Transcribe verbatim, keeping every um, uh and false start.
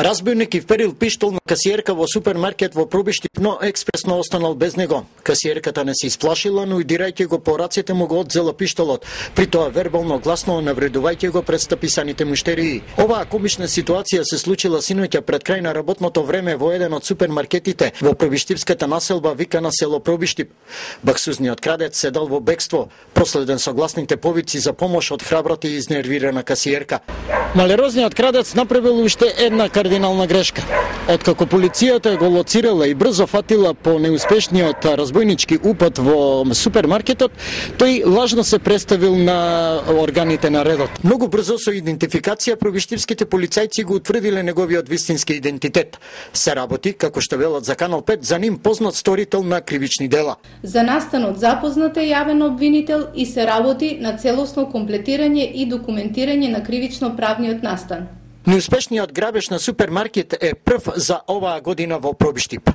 Разбойник и вперил пиштол на касиерка во супермаркет во Пробиштип, но експресно останал без него. Касиерката не се исплашила, но и дирајќи го по рацете му го одзела пиштолот, при тоа вербално гласно навредувајќи го пред стаписаните муштерии. Оваа комична ситуација се случила синоќа пред крај на работното време во еден од супермаркетите во Пробиштипската населба викана село Пробиштип. Баксузниот крадец седал во бегство, проследен со гласните повици за помош од храбрата и изнервирана касиерка. Малерозниот крадец направил уште една кардинална грешка. Откако полицијата го лоцирала и брзо фатила по неуспешниот разбойнички упад во супермаркетот, тој лажно се представил на органите на редот. Многу брзо со идентификација пробиштипските полицајци го утврдиле неговиот вистински идентитет. Се работи, како што велат за Канал пет, за ним познат сторител на кривични дела. За настанот запознат е јавен обвинител и се работи на целосно комплетирање и документирање на кривично-правниот настан. Неуспешниот грабеж на супермаркет е прв за оваа година во Пробиштип.